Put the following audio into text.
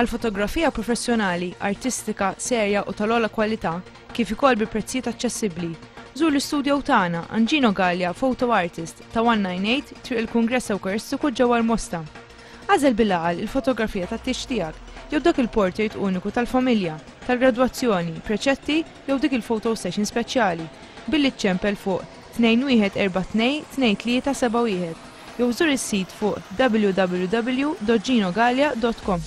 Għal fotografija professjonali, artistika, serja u tal-ogħla kwalità, kif ukoll bi prezzijiet aċċessibbli, żur l-istudio tagħna Angino Gallia Photo Artist ta' 198 Triq il-Kungress Ewkaristiku ġewwa l-Mosta. Agħżel bil-għaqal il-fotografija tat-tieġ tiegħek jew dak il-portrait uniku tal-familja, tal-gradwazzjoni, preċetti jew dik il-photo session speċjali billi ċċempel fuq 2142 2371 jew żur is-sit fuq www.ginogallia.com.